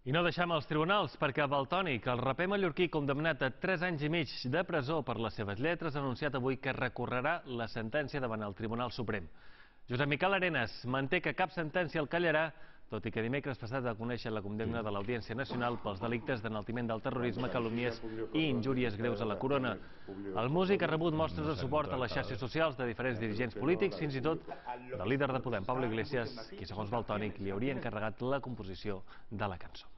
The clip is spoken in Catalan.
I no deixem els tribunals, perquè Valtònyc, el raper mallorquí condemnat a 3 anys i mig de presó per les seves lletres, ha anunciat avui que recorrerà la sentència davant el Tribunal Suprem. Josep Miquel Arenas manté que cap sentència el callarà, tot i que dimecres passat va conèixer la condemna de l'Audiència Nacional pels delictes d'enaltiment del terrorisme, calúmnies i injúries greus a la corona. El músic ha rebut mostres de suport a les xarxes socials de diferents dirigents polítics, fins i tot del líder de Podem, Pablo Iglesias, qui, segons Valtònyc, li hauria encarregat la composició de la cançó.